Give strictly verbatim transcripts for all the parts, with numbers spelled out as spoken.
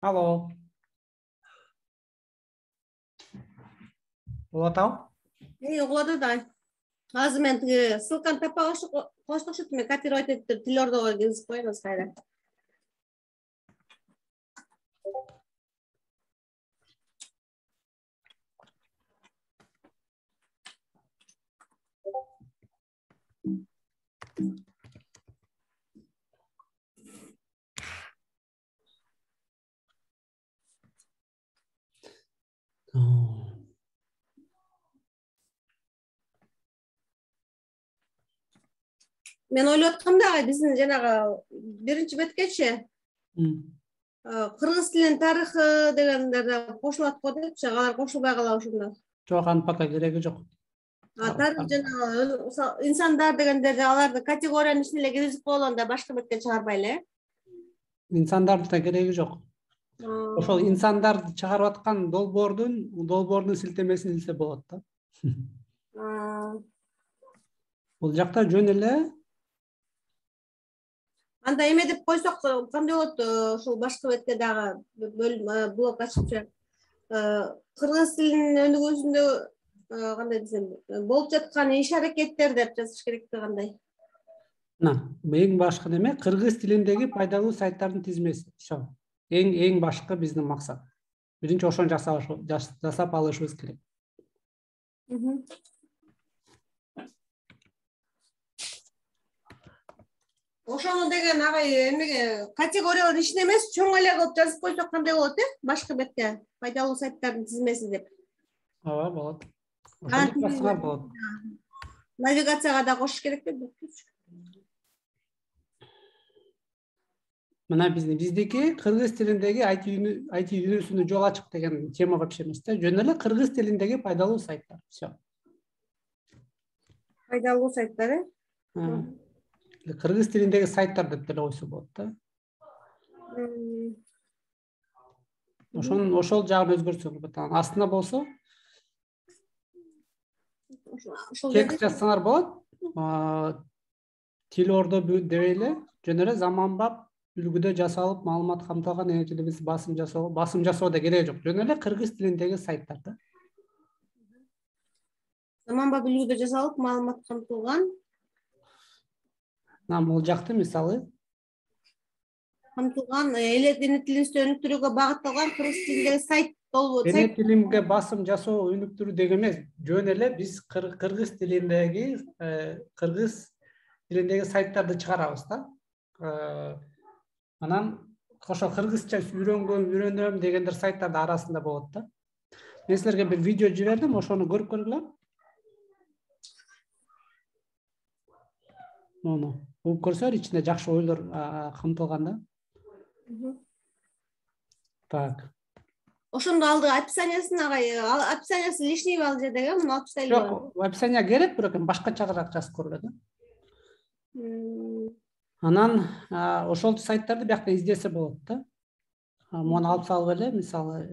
Алло. Болот ал? Эй, угулат да. Азыр мен тиги ссылканы таппай коштукчу мен копировать этип Телеордого киргизип коебуз кайра. Мен ойлоп аткам да биздин жанагы биринчи беткечи кыргыз тилинин тарыхы дегендер да кошулат го депчи, алар кошулбай калабы ошондо? Жок, анын пока кереги жок. Тарых жанагы инсандар дегендерди аларды категориянын ичине эле киргизип койгондо башка бетке чыгарбай эле. Инсандардын да кереги жок. Ошол инсандарды чыгарып аткан долбоордун долбоордун силтемесин илсе болот да. Бул жакта жөн эле Анда эме деп койсок кандай болот? Ушул башкы бетке дагы блок ачыпчы. Кыргыз тилинин өнүгүүсүндө кандай десем, болуп жаткан иш аракеттер деп жазыш керек да кандай? Мына, эң башкы неме кыргыз тилиндеги пайдалуу сайттардын тизмеси. Ошо. Эң эң башкы биздин максат. Биринчи ошону жасап алышыбыз керек. Ошону деген агай эмеге категориялардын ичине эмес, чоң эле кылып жазып койсок кандай болот э? Башкы бетке пайдалуу сайттардын тизмеси деп. Ооба, болот. Ошону жазсаңар болот. Навигацияга да кошуш керек да. Мына биздин биздики кыргыз тилиндеги ай ти дүйнөсүнө жол ачык деген тема вообще эмес да. Жөн эле кыргыз тилиндеги пайдалуу сайттар. Всё. Пайдалуу сайттар э? Кыргыз тилиндеги сайттар деп деле койсо болот да. Ошон ошол жагын өзгөртсөң болот. Астына болсо текст жазсаңар болот. Телеордо дебейле жөн эле заманбап үлгүдө жасалып маалымат камтылган эң эле басым жасоо, басым жасоо да кереги жок. Жөн эле кыргыз тилиндеги сайттар да. Заманбап үлгүдө жасалып маалымат камтылган. Мына бул жакты мисалы камтылган эле тилинизди өнүктүрүүгө багытталган кыргыз тилиндеги сайт болбойт. Эне тилимге басым жасоо, өнүктүрүү деген эмес. Жөн эле биз кыргыз тилиндеги кыргыз тилиндеги сайттарды чыгарабыз да. Анан ошо кыргызча үйрөнгөм, үйрөнөм дегендер сайттардын арасында болот да. Мен силерге бир видео жибердим, ошону көрүп көргүлө. Мону угуп көрсөөр, ичинде жакшы ойлор камтылган да. Так. Ошондо алды описаниясын агай, описаниясы лишнийби ал жердеги, муну алып тастайлы. Жок, описания керек, бирок башкачараак жазып көргүлө да. Анан ошол сайттарды биякта издесе болот да. Муну алып салып эле, мисалы,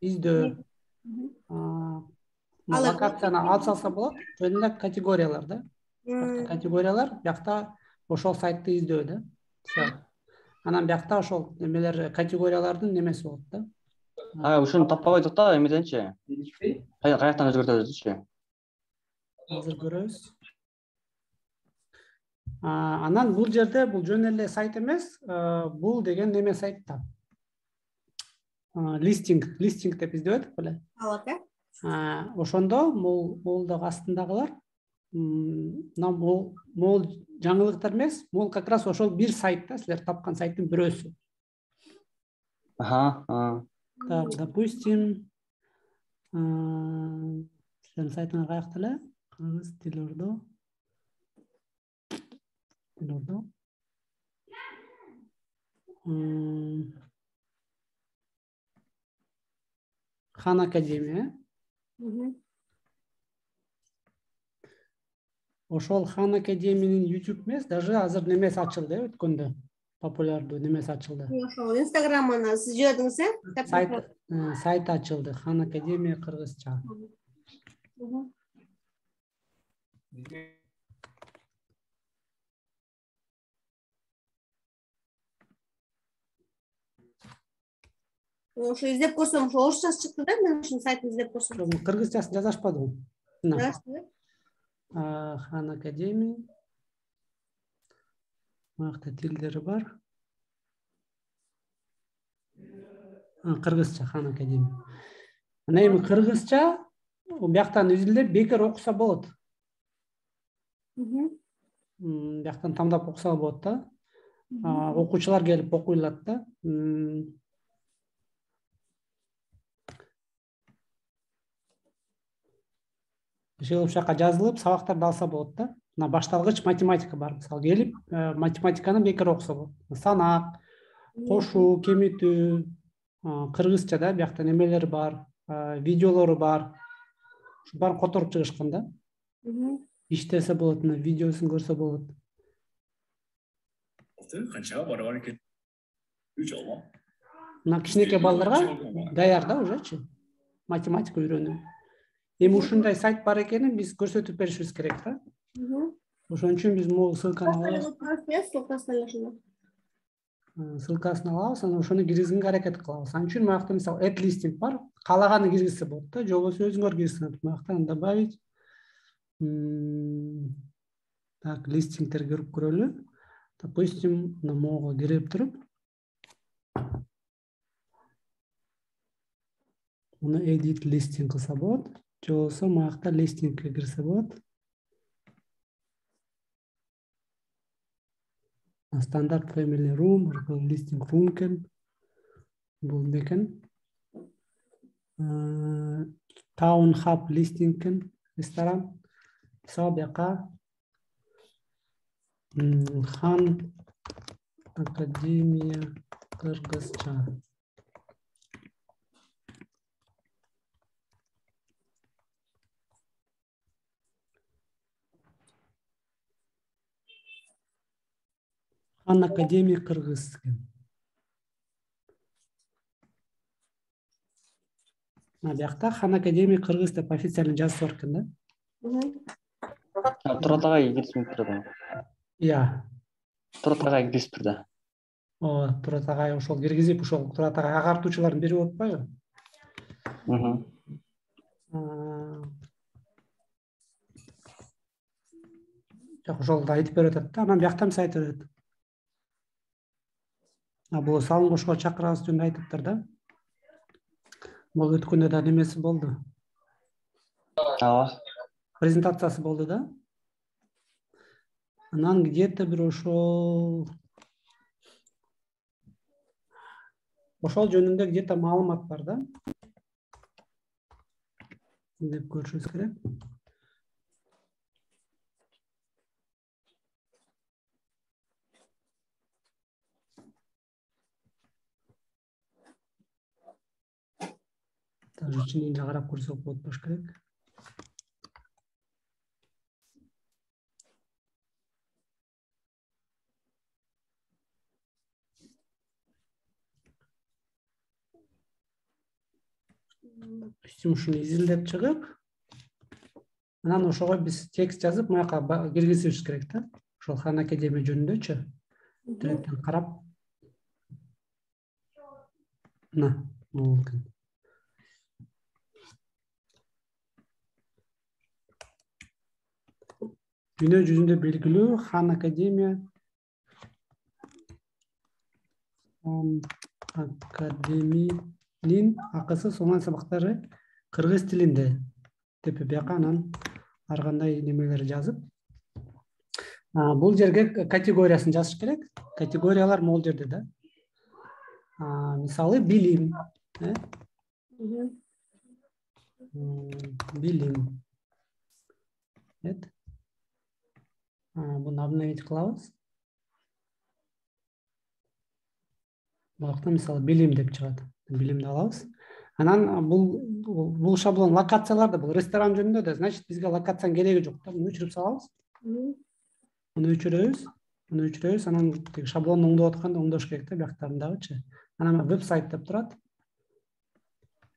издөө. Локацияны алып салса болот, жөн эле категориялар да. Категориялар биякта ошол сайтты издөө да. Всё. Анан биякта ошол немелер категориялардын немеси болот да. А, ушуну таппай койдук да, эмеденчи. Каяктан өзгөртөбүзчү? Азыр көрөбүз. Анан бул жерде бул жөн эле сайт эмес, бул деген неме сайт да. Листинг, листинг деп издеп атып беле? Алат э? Ошондо бул бул дагы астындагылар мына бул могул жаңылыктар эмес, могул как раз ошол бир сайт да, силер тапкан сайттын бирөөсү. Ага. Так, допустим, силердин сайтыңар каякта эле? Кыргыз Телеордо. Телеордо. Хан Академия. Ошол Хан Академиянын YouTube эмес, даже азыр немеси ачылды, өткөндө популярдуу немеси ачылды. Ошол Instagram'ына сиз жибердиңиз э? Сайт сайт ачылды, Хан Академия кыргызча. Ошо издеп көрсөм, ошо орусчасы чыкты да, мен ушунун сайтын издеп көрсөм. Кыргызчасын жаза ашпадым. Жаздым. Хан Академия. Мынакта тилдери бар. Кыргызча Хан Академия. Ана эми кыргызча бияктан изилдеп бекер окуса болот. Бияктан тамдап окуса болот да. Окуучулар келип окуй алат да. Ошол жака жазылып, сабактарды алса болот да. Мына башталгыч математика бар. Мисалы келип, математиканы бекер окуса болот. Санак, кошуу, кемитүү, кыргызча да, биякта немелер бар, видеолору бар. Ушу баарын которуп чыгышкан да. Иштесе болот, мына видеосун көрсө болот. Канча бар экен? үч алма. Мына кичинекей балдарга даяр да ужечи. Математика үйрөнүү. Эми ушундай сайт бар экенин биз көрсөтүп беришибиз керек да. Ошон үчүн биз могу ссылканы алабыз. Ссылкасын алабыз, анан ошону киргизгенге аракет кылабыз. Анын үчүн мынакта мисалы add listing бар, каалаганы киргизсе болот да, же болбосо өзүңөр киргизсеңер. Мынактан добавить. Так, листингдер көрүп көрөлү. Допустим, на могу кирип туруп. Муну edit listing кылса болот. Же болбосо мынакта листингге кирсе болот. Стандарт family room, listing room экен. Бул экен. Town hub listing экен, ресторан. Мисалы бияка Хан Академия кыргызча. Хан Академия кыргыз экен. Мына биякта Хан Академия кыргыз деп официально жазып бар экен да. Турат агай кирисип турат. Иә. Турат агай кирисип турду. О, Турат агай ошол киргизип, ошол Турат агай агартуучулардын бири болуп атпайбы? Мм. Жок, ошол айтып берип атат да, анан бияктан биз айтып берет. А бул салым кошууга чакырабыз жөнүндө айтыптыр да. Бул өткөндө да немеси болду. Ооба. Презентациясы болду да. Анан где-то бир ошол ошол жөнүндө где-то маалымат бар да. Деп көрүшүбүз керек. Даже ичинен да карап көрсөк болот болуш керек. Ушуну изилдеп чыгып, анан ошого биз текст жазып, маяка киргизишибиз керек да. Ошол Хан Академия жөнүндөчү. Директен карап. На, бул экен. Дүйнө жүзүндө белгилүү Хан Академия Хан Академиянын акысы сонун сабактары кыргыз тилинде деп бияка анан ар кандай немелер жазып. Бул жерге категориясын жазыш керек. Категориялар могул жерде да. Мисалы билим, э? Билим. Эт. Буну обновить кылабыз. Бакта мисалы билим деп чыгат. Билимди алабыз. Анан бул бул шаблон локацияларда, бул ресторан жөнүндө да, значит бизге локациянын кереги жок да. Муну өчүрүп салабыз. Муну өчүрөбүз. Муну өчүрөбүз. Анан тиги шаблонду оңдоп атканда оңдош керек да, бияктарындагычы. Анан веб-сайт деп турат.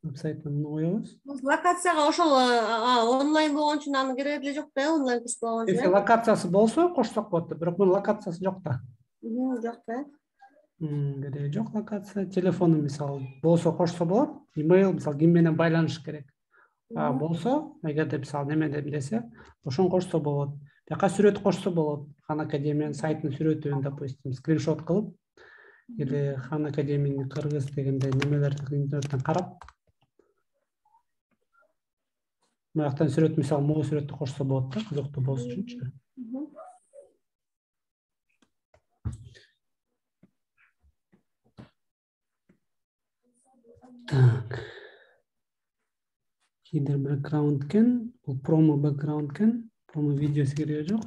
Веб-сайтына муну коебуз. Локацияга ошол онлайн болгон үчүн аны кереги деле жок да, онлайн курс болгон үчүн. Если локациясы болсо кошсок болот, бирок мунун локациясы жок да. Жок да. Кереги жок локация. Телефону мисалы болсо кошсо болот. Имейл мисалы ким менен байланыш керек. Болсо, эгерде мисалы немеде десе, ошон кошсо болот. Бияка сүрөт кошсо болот. Хан Академиянын сайтынын сүрөтүн, допустим, скриншот кылып, или Хан Академиянын кыргыз дегенде немелерди интернеттен карап, маяктан сүрөт мисалы могу сүрөттү кошсо болот да, кызыктуу болуш үчүнчү. Так. Хидер бэкграунд кен, бул промо бэкграунд кен, промо видеосу кереги жок.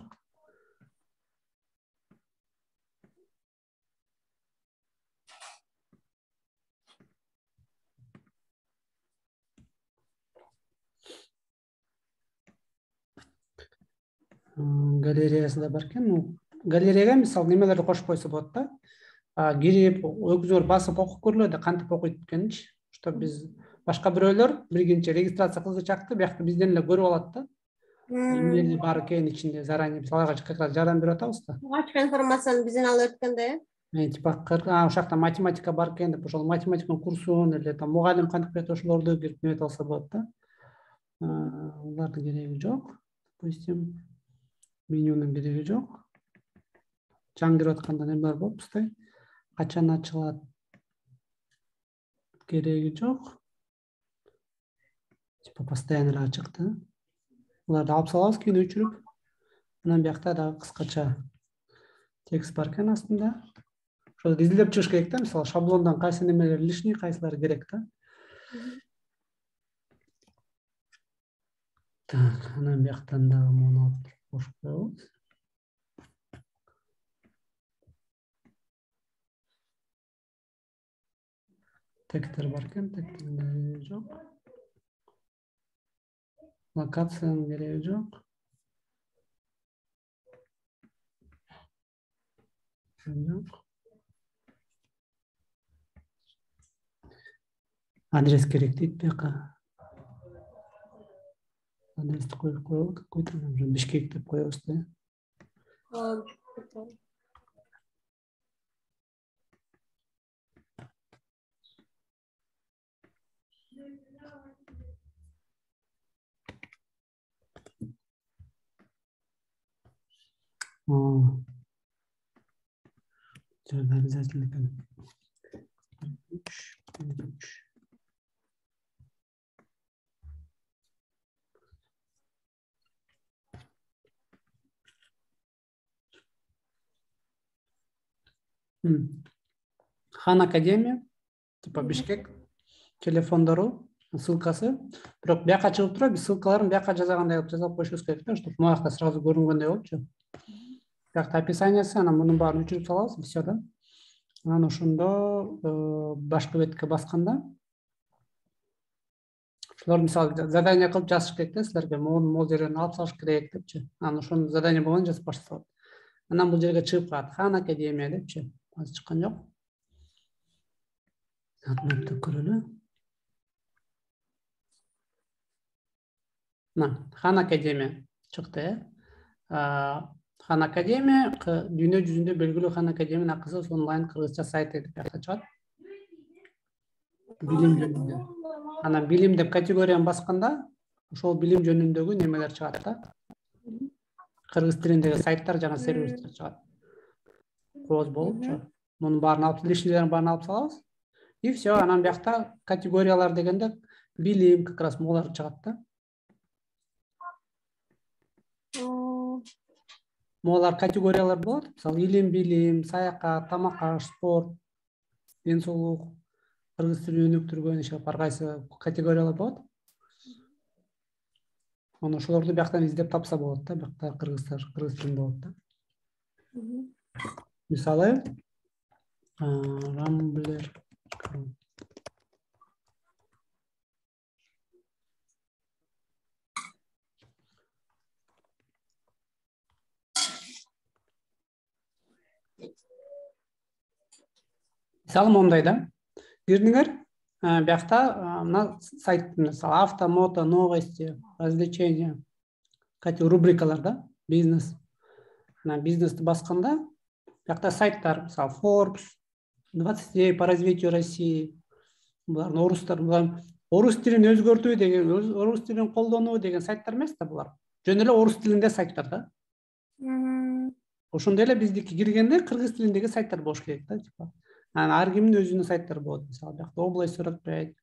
Галереясы да бар экен. Галереяга мисалы немелерди кошуп койсо болот да. Кирип, өзүңөр басып окуп көрүлөт да, кантип окуйт экенинчи. Что биз башка бирөөлөр биринчи регистрация кылгычакты, биякта бизден эле көрүп алат да. Эмнеси бар экен ичинде заранее биз аларга как раз жардам берип атабыз да. Ачык информацияны бизден алып өткөндө, э? Типа, ошол жакта математика бар экен деп, ошол математиканын курсун или там мугалим кантип берет, ошолорду кирип неметип алса болот да. Улардын кереги жок. Допустим, менюнун кереги жок. Жаңгырып атканда немелер болуп турстай. Качан ачылат? Кереги жок. Типа постоянно эле ачык да. Уларды алып салабыз кийин өчүрүп. Анан биякта дагы кыскача текст бар экен астында. Ошол изилдеп чыгыш керек да, мисалы шаблондон кайсы немелер лишний, кайсылары керек да. Так, анан бияктан дагы муну алып кошуп коебуз. Тегтер бар экен, тегтерде жок. Локациянын кереги жок. Жок. Адрес керек дейт бияка. Адрести коюп коелу, какой-то Бишкек деп коебуз да. Жада обязательно экен. Хан Академия, типа Бишкек, телефондору, ссылкасы. Бирок бияка чыгып турат, биз ссылкаларын бияка жазгандай кылып жазып коюшубуз керек да, чтобы муякта сразу көрүнгөндөй болупчу. Биякта описаниясы, анан мунун баарын өчүрүп салабыз, все да. Анан ошондо башкы бетке басканда ошолор мисалы задание кылып жазыш керек да, силерге могу могу жерден алып салыш керек депчи. Анан ошону задание болгондо жазып башталат. Анан бул жерге чыгып калат Хан Академия депчи. Азыр чыккан жок. Атмапты көрөлү. Мына Хан Академия чыкты. Хан Академия дүйнө жүзүндө белгилүү Хан Академиянын акысыз онлайн кыргызча сайты деп чыгат. Билим жөнүндө. Анан билим деп категорияны басканда ошол билим жөнүндөгү немелер чыгат да. Кыргыз тилиндеги сайттар жана сервистер чыгат. Кооз болупчу. Мунун баарын алып, лишнийлерин баарын алып салабыз. И все, анан биякта категориялар дегенде билим как раз могулар чыгат да. Могулар категориялар болот. Мисалы, илим, билим, саякат, тамак-аш, спорт, ден соолук, кыргыз тилин өнүктүргөн иши ар кайсы категориялар болот. Анан ошолорду бияктан издеп тапса болот да, биякта кыргыздар кыргыз тилинде болот да. Мисалы, Рамблер. Мисалы мондай да. Кирдиңер, биякта мына сайт, мисалы авто, мото, новости, развлечения, кати рубрикалар да, бизнес. Анан бизнести басканда биякта сайттар, мисалы Forbes, двадцать идей по развитию России. Булар орустар, булар орус тилин өзгөртүү деген, орус тилин колдонуу деген сайттар эмес да булар. Жөн эле орус тилинде сайттар да. Ошондой эле биздики киргенде кыргыз тилиндеги сайттар болуш керек да, типа. Анан ар кимдин өзүнүн сайттары болот. Мисалы, биякта область сорок пять,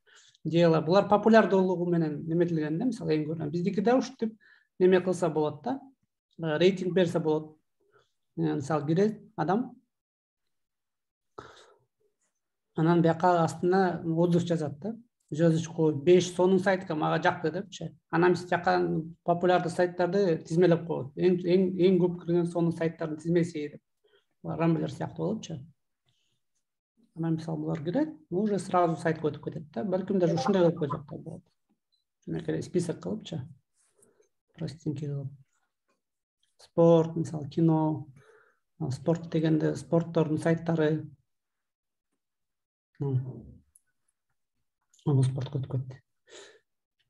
дело. Булар популярдуулугу менен неметилген да, мисалы, эң көрүнөн. Биздики да ушинтип неме кылса болот да. Рейтинг берсе болот. Мисалы, кирет адам. Анан бияка астына отзыв жазат да. Жазычку беш сонун сайтка мага жакты депчи. Анан биз жака популярдуу сайттарды тизмелеп коет. Эң эң эң көп кирген сонун сайттардын тизмеси деп. Рамблер сыяктуу болупчу. Анан мисалы булар кирет, уже сразу сайтка өтүп кетет да. Балким даже ушундай кылып койсок да болот. Мынакей список кылыпчы. Простенький кылып. Спорт, мисалы, кино, спорт дегенде спорттордун сайттары. Аны спортко өтүп кетти.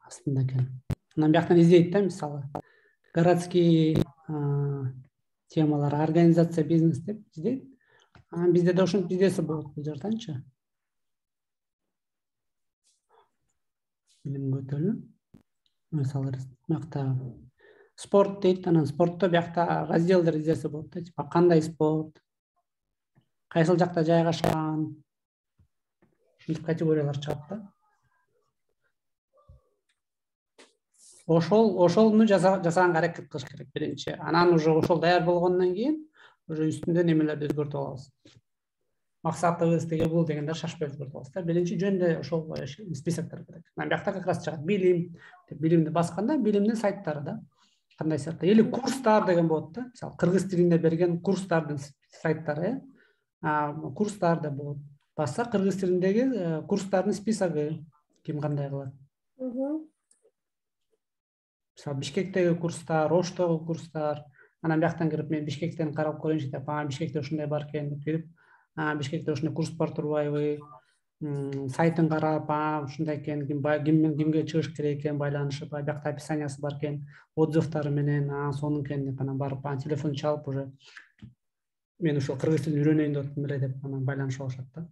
Астында экен. Анан бияктан издейт да, мисалы, городские темалар, организация, бизнес деп издейт. Анан бизде да ушинтип издесе болот бул жактанчы. Билимге өтөлү. Мисалы, биякта спорт дейт, анан спортто биякта разделдер издесе болот да, типа кандай спорт, кайсыл жакта жайгашкан, ушинтип категориялар чыгат да. Ошол ошолну жасаганга аракет кылыш керек биринчи. Анан уже ошол даяр болгондон кийин уже үстүндө немелерди өзгөртүп алабыз. Максатыбыз теге бул дегенде шашпай өзгөртүп алабыз да. Биринчи жөндө ошол списоктор керек. Анан биякта как раз чыгат билим, билимди басканда билимдин сайттары да. Кандай сайттар? Или курстар деген болот да. Мисалы, кыргыз тилинде берген курстардын сайттары, а курстар да болот. Басса кыргыз тилиндеги курстардын списогу ким кандай кылат. Мисалы, Бишкектеги курстар, Оштогу курстар. Анан бияктан кирип мен Бишкектен карап көрөйүнчү деп, а Бишкекте ушундай бар экен деп кирип, а Бишкекте ушундай курс бар турбайбы? Сайтын карап, а ушундай экен, ким ким кимге чыгыш керек экен, байланышып, биякта описаниясы бар экен, отзывдары менен, а сонун экен деп анан барып, анан телефон чалып уже мен ошол кыргыз тилин үйрөнөйүн деп атам эле деп анан байланышып алышат да.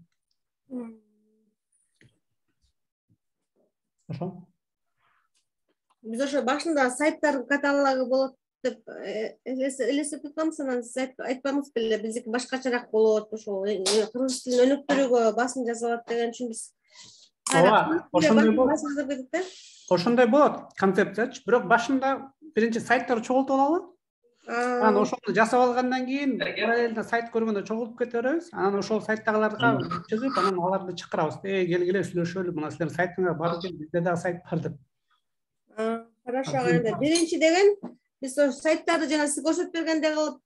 Ошо. Биз ошо башында сайттардын каталогу болот деп элестетип атканбыз, анан сиз айтпадыңыз беле, биздики башкачараак болот, ошол кыргыз тилин өнүктүрүүгө басым жасалат деген үчүн биз ооба, ошондой болот. Ошондой болот концепциячы, бирок башында биринчи сайттарды чогултуп алалы. Анан ошону жасап алгандан кийин параллельно сайт көргөндө чогултуп кете беребиз. Анан ошол сайттагыларга чыгып, анан аларды чакырабыз. Эй, келгиле сүйлөшөлү, мына силердин сайтыңар бар экен, бизде да сайт бар деп. Хорошо, анда биринчи деген биз ошо сайттарды жана сиз көрсөтүп бергендей кылып,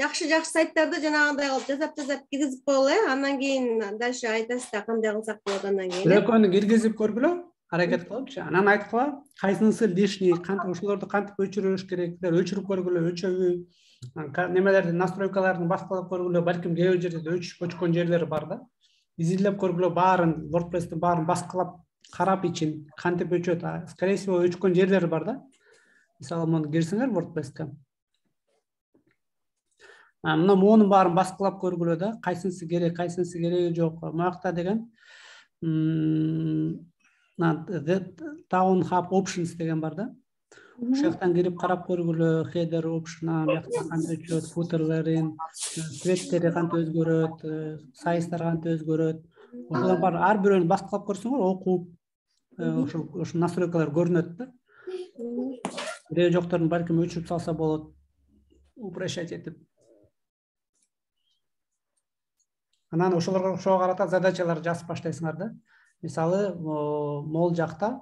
жакшы-жакшы сайттарды жанагындай кылып жасап-жасап киргизип коелу, э? Андан кийин дальше айтасыз да кандай кылсак болот андан кийин. Экөөнү киргизип көргүлө, аракет кылыпчы. Анан айткыла, кайсынысы лишний, кантип ошолорду кантип өчүрүш керек, өчүрүп көргүлө, өчөбү, немелерди, настройкаларын баскылап көргүлө, балким кээ бир жерде өчүп өчкөн жерлери бар да. Изилдеп көргүлө, баарын, WordPress'ти баарын баскылап карап ичин кантип өчөт, скорее всего өчкөн жерлери бар да. Мисалы, муну кирсеңер WordPress'ке. Мына монун баарын баскылап көргүлө да, кайсынысы керек, кайсынысы кереги жок. Муякта деген Town Hub Options деген бар да. Ошол жактан кирип карап көргүлө, header option, биякта кантип өчөт, footerлерин, цветтери кантип өзгөрөт, сайыстар кантип өзгөрөт. Ошолор бар, ар бирөөнү баскылап көрсөңөр, окуп, ошол ошол настройкалар көрүнөт да. Кереги жокторун балким өчүрүп салса болот, упрощать этип. Анан ошолорго ошого карата задачалар жазып баштайсыңар да. Мисалы, могул жакта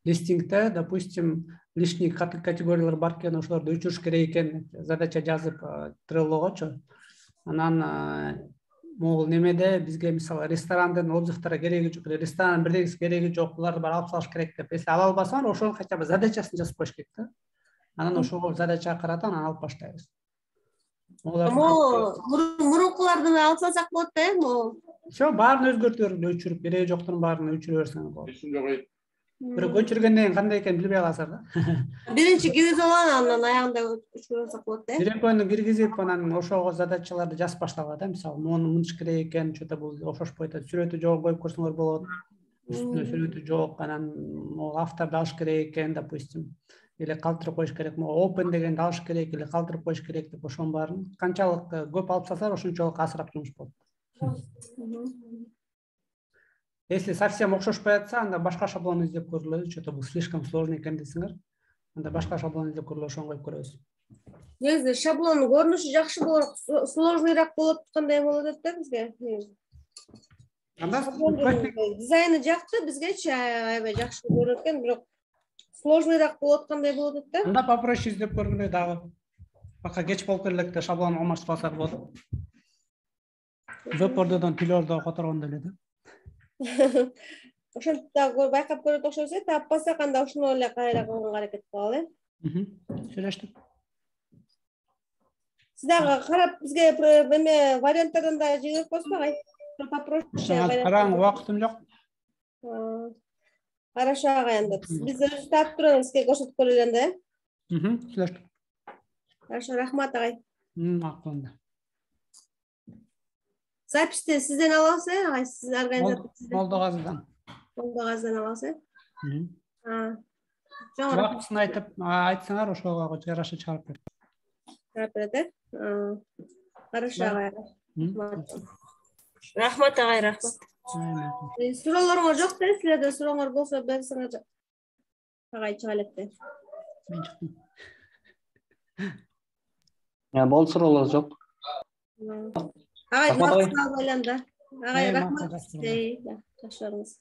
листингде, допустим, лишний категориялар бар экен, ошолорду өчүрүш керек экен, задача жазып Trello'гочу. Анан могул немеде бизге мисалы ресторандын отзывдары кереги жок, ресторан бирдегиси кереги жок, буларды баары алып салыш керек деп. Если ала албасаңар, ошонун хотя бы задачасын жазып коюш керек да. Анан ошол задачага карата анан алып баштайбыз. Мурункуларды алып салсак болот да, э? Всё, баарын өзгөртүп өчүрүп, кереги жокторун баарын өчүрө берсеңер болот. Бирок өчүргөндөн кийин кандай экенин билбей каласыздар да. Биринчи киргизип алган, анан аягында өчүрүп алсак болот да. Бир экөөнү киргизип, анан ошого задачаларды жазып баштагыла да. Мисалы, мону мынтип керек экен, что-то бул ошошпой атат. Сүрөтү жок коюп көрсөңөр болот. Үстүнө сүрөтү жок, анан могу авторду алыш керек экен, допустим. Или калтырып коюш керек, могу open дегенди алыш керек, или калтырып коюш керек деп ошонун баарын канчалык көп алып салсалар, ошончолук азыраак жумуш болот. Если совсем окшошпой атса, анда башка шаблон издеп көрүлөт. Что-то бул слишком сложный экен десеңер, анда башка шаблон издеп көрүлөт, ошону коюп көрөбүз. Негизи шаблондун көрүнүшү жакшы болот, сложныйраак болот, кандай болот да бизге? Анда дизайны жакты, бизгечи аябай жакшы көрүнөт экен, бирок сложныйраак болот, кандай болот да? Анда попроще издеп көргүлө дагы. Пока кеч болуп келелекте шаблон алмашып алсак болот. Веб-ордодон тилөрдө которгондой эле да. Ошентип дагы байкап көрөт окшойт, таппасак анда ошону эле кайра кылганга аракет кылалы, э? Сүйлөштүк. Сиз дагы карап бизге эме варианттардан да жиберип койсуңар, попроще. Караң, убактым жок. Хорошо, агай, анда биз өзүбүз тартып турабыз, сизге көрсөтүп көрөлү анда, э? Сүйлөштүк. Хорошо, рахмат, агай. Макул. Записти сизден алабыз, э, агай? Сиз организатор. Молдогазыдан. Молдогазыдан алабыз, э? Убактысын айтып, айтсаңар, ошого жараша чыгарып берет. Чыгарып берет, э? Хорошо, агай. Рахмат, агай, рахмат. Суроолоруңар жок да, силерде сурооңор болсо берсеңер, агай чыга электе. Мен чыктым. Болду, суроолор жок. Агай, максат байланды. Агай, рахмат. Жакшы көрүңүз.